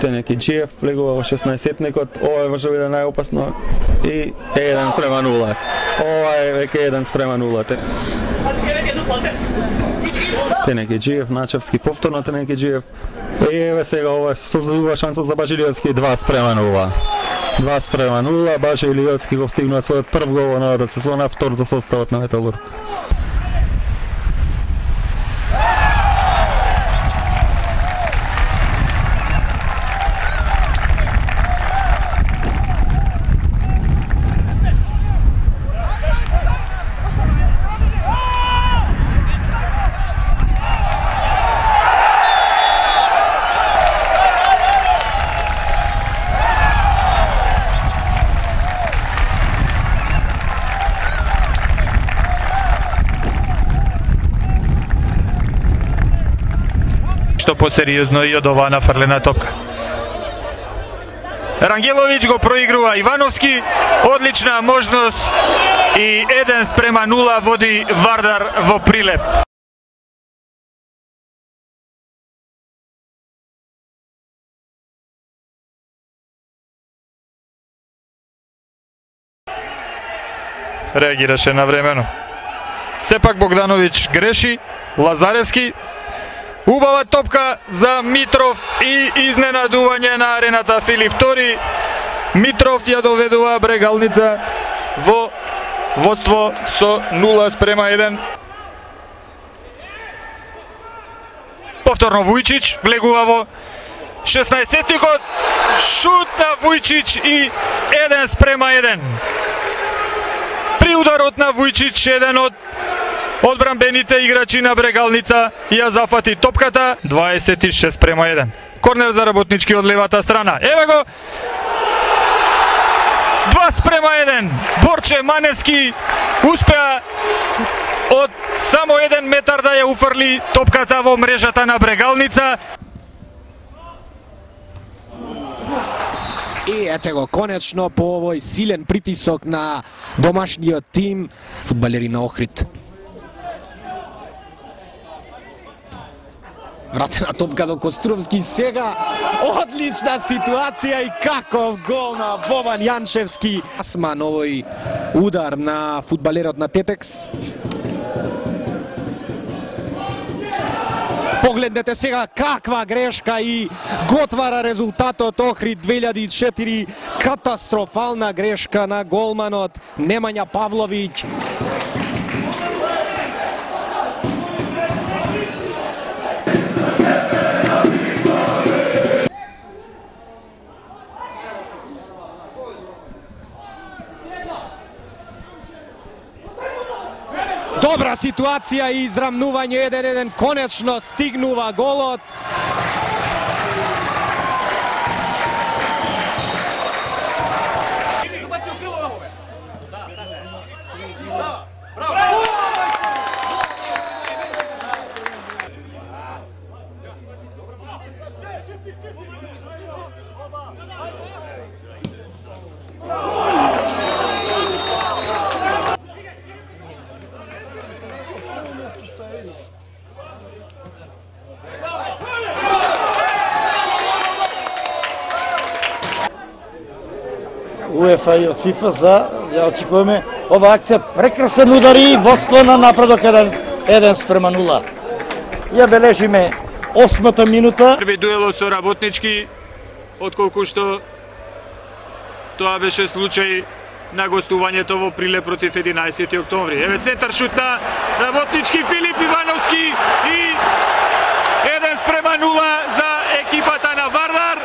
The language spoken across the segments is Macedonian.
Тенеки Джиев влегува во 16-тникот, ова може да биде најопасно и 1:0. Ова е веќе 1:0. Тенеки Джиев, Начевски повторно Тенеки Джиев. Еве сега ова создадува шанса за Бажилиовски 2:0. 2:0, Бажилиовски го стигнува својот прв гол во новата сезона, втор за составот на Металург. Што посериозно и од оваа нафрлена топка. Рангеловиќ го проигрува Ивановски, одлична можност и 1:0 води Вардар во Прилеп. Реагираше навремено. Сепак Богдановиќ греши, Лазаревски. Убава топка за Митров и изненадување на арената Филип Тори. Митров ја доведува Брегалница во водство со 0:1. Повторно Вујчич влегува во 16-тикот. Шут на Вујчич и 1:1. При ударот на Вујчич еден од одбранбените играчи на Брегалница ја зафати топката. 26:1. Корнер за Работнички од левата страна. Еве го 2:1. Борче Маневски успеа од само 1 метар да ја уфрли топката во мрежата на Брегалница. И ете го конечно по овој силен притисок на домашниот тим фудбалери на Охрид. Вратена топка до Костровски сега. Одлична ситуација и каков гол на Бобан Јанчевски. Асман овој удар на фудбалерот на Тетекс. Погледнете сега каква грешка и го отвара резултатот Охрид 2004. Катастрофална грешка на голманот Немања Павловиќ. Добра ситуација и израмнување 1:1, конечно стигнува голот. УЕФА и од ФИФА за ја очекуваме ова акција. Прекрасен удар и водство на напредок 1:0. Ја бележиме 8-та минута. Први дуелот со Работнички, отколку што тоа беше случај на гостувањето во Прилеп против 11 октомври. Еве центар шут на Работнички, Филип Ивановски и 1:0 за екипата на Вардар.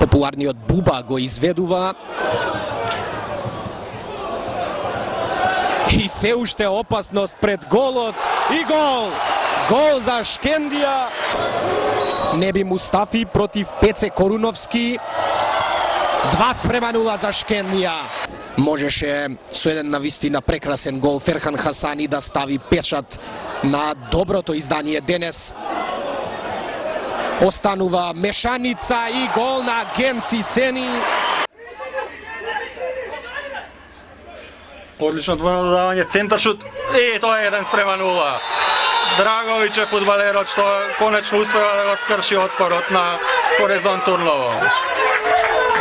Популарниот Буба го изведува. И се уште опасност пред голот. И гол! Гол за Шкендија. Неби Мустафи против Пеце Коруновски. 2:0 за Шкендија. Можеше со еден навистина прекрасен гол Ферхан Хасани да стави печат на доброто издание денес. Останува мешаница и гол на Генци Сени. Одлично двојно додавање, центар шут. Тоа е 1:0. Драговиќ е фудбалерот што конечно успева да го скрши отпорот на Хорезон Турново.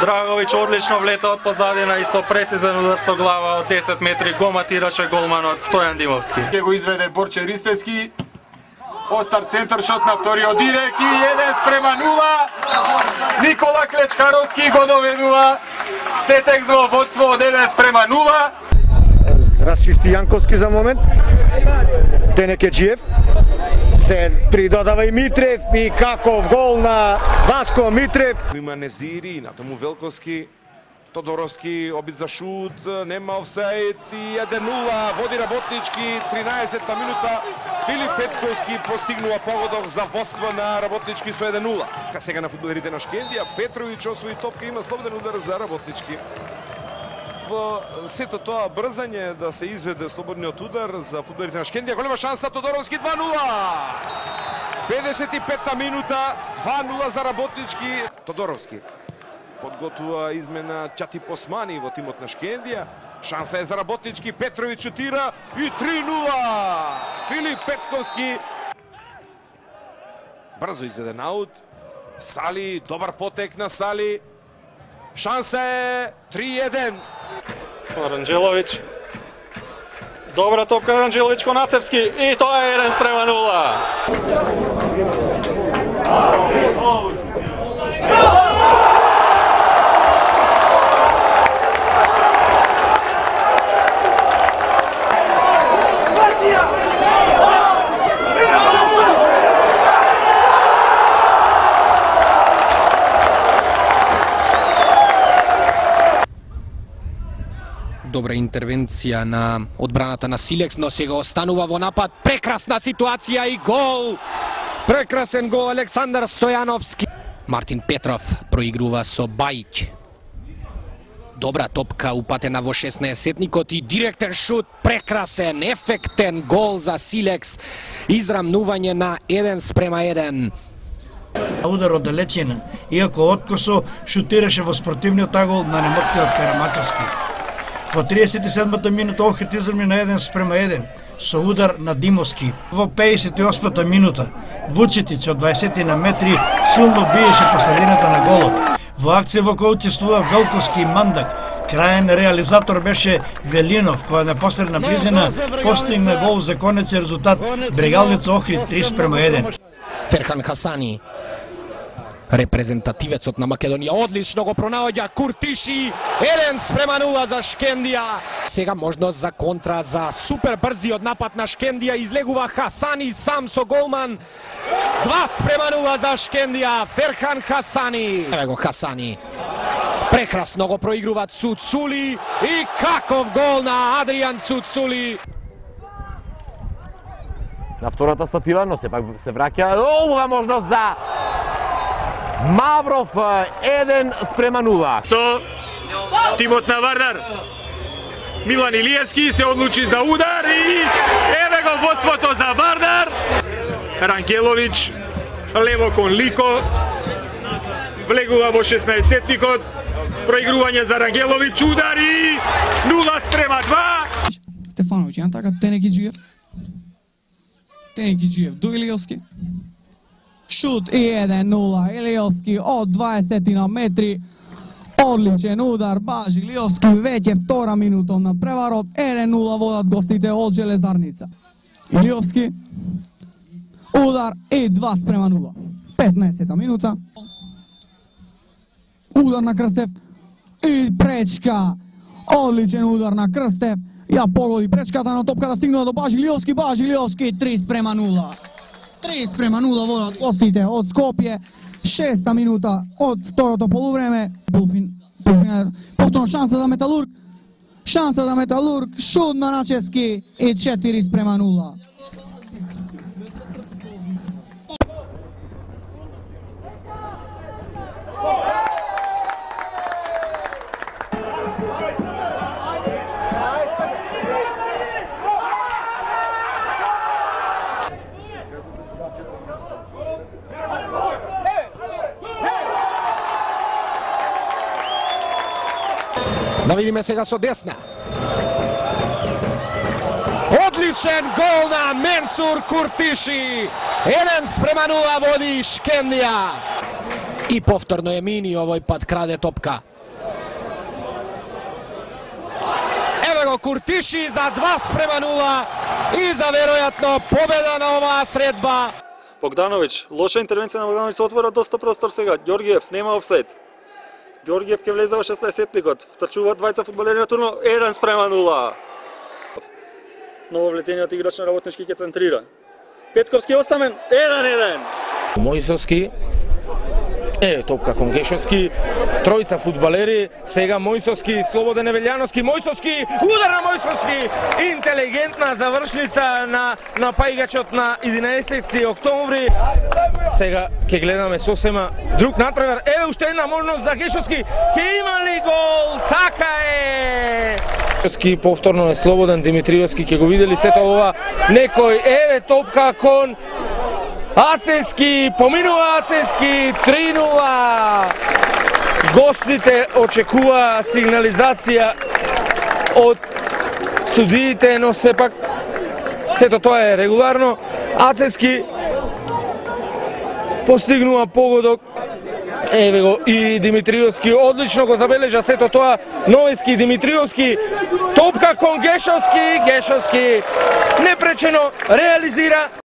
Драговиќ одлично влета од позадина и со прецизен удар со глава од 10 метри го матираше голманот Стојан Димовски. Ке го изведе Борче Ристевски. Остар центар шот на вториот дирек и 1:0. Никола Клечкаровски го доведува Тетекс во водство од 1:0. Расчисти Јанковски за момент. Тенекеджиев. Се придодава и Митрев и каков гол на Васко Митрев. Има Незири, натаму Велковски, Тодоровски, обид за шут, нема офсаид и 1:0, води Работнички, 13-та минута. Филип Петковски постигнува погодок за водство на Работнички со 1:0. Ка сега на фудбалерите на Шкендија, Петровиќ освои топка, има слободен удар за Работнички. Во сето тоа брзање да се изведе слободниот удар за фудбалерите на Шкендија, голема шанса Тодоровски 2:0. 55-та минута, 2:0 за Работнички. Тодоровски подготвува измена Чати Посмани во тимот на Шкендија. Шанса е за Работнички, Петровиќ шутира и 3:0. Филип Петковски. Брзо изведен аут. Сали, добар потек на Сали. Шанса е 3:1. Аранџеловиќ. Добра топка Аранџеловиќ кон Ацевски и тоа е 1:0. Добра интервенција на одбраната на Силекс, но сега останува во напад. Прекрасна ситуација и гол! Прекрасен гол Александар Стојановски. Мартин Петров проигрува со Бајќ. Добра топка упатена во 16-сетникот и директен шут, прекрасен, ефектен гол за Силекс. Израмнување на 1:1. Удар од далечина, иако откосо шутираше во спротивниот агол на немоткиот Карамачевски. Во 37-та минута Охрид изравни на 1:1 со удар на Димовски. Во 58-та минута Вучетич од 20 на метри силно биеше по средината на голот. Во акција во која учествува Велковски и Мандак, краен реализатор беше Велинов, која на посредна близина постигна гол за конечен резултат Брегалница Охрид 3:1. Ферхан Хасани, репрезентативецот на Македонија, одлично го пронаоѓа Куртиши, 1:0 за Шкендија. Сега можност за контра за супер брзиот напад на Шкендија, излегува Хасани сам со голман. 2:0 за Шкендија, Ферхан Хасани. Еве го Хасани. Прекрасно го проигрува Цуцули и каков гол на Адриан Цуцули. На втората статива, но сепак се враќа. Оваа можност за Мавров, 1:0. Со тимот на Вардар. Милан Илиевски се одлучи за удар и еве го водството за Вардар. Рангеловиќ лево кон Лико. Влегува во 16-сетникот. Проигрување за Рангеловиќ, удар и 0:2. Стефановиќ, ја така Тенекиџиев до Илиевски. Шут и 1:0, Илиевски од 20 на метри. Одличен удар, баш Илиевски, веќе втора минута над преварот, 1:0 водат гостите од Железарница. Илиевски, удар и 2:0. 15-та минута. Удар на Крстев и пречка. Одличен удар на Крстев. Ја погоди пречката, но топката стигнува до Бажилиовски, 3:0. 3:0 водат гостите од Скопје. 6-та минута од второто полувреме. Повторно шанса за Металург. Шут на Начевски и 4:0. Да видиме сега со десна. Одличен гол на Менсур Куртиши. 1:0 води Шкемдија. И повторно Емини овој пат краде топка. Еве го Куртиши за 2:0 и за веројатно победа на оваа средба. Богдановиќ, лоша интервенција на Богдановиќ, се отвора доста простор сега. Ѓоргиев нема офсайд. Ѓоргиев ќе влезе во 16-тникот. Втрчуваат двајца фудбалери на турно, 1:0. Ново влезениот играч на Работнички ќе центрира. Петковски осамен, 1:1. Мојсовски, топка кон Гешовски, тројца фудбалери, сега Мојсовски, Слободен Евелјановски, Мојсовски, удар на Мојсовски, интелигентна завршница на напајгачот на 11 октомври. Сега ќе гледаме сосема друг натпревар. Еве уште една можност за Гешовски, ќе има ли гол? Така е! Гешовски повторно е слободен, Димитриевски ќе го видели сето ова. Некој, еве топка кон Ацески, поминува Ацески, 3:0. Гостите очекува сигнализација од судиите, но сепак сето тоа е регуларно. Ацески постигнува погодок. Еве го и Димитриевски одлично го забележа сето тоа. Новески, Димитриевски, топка кон Гешовски, Гешовски непречено реализира.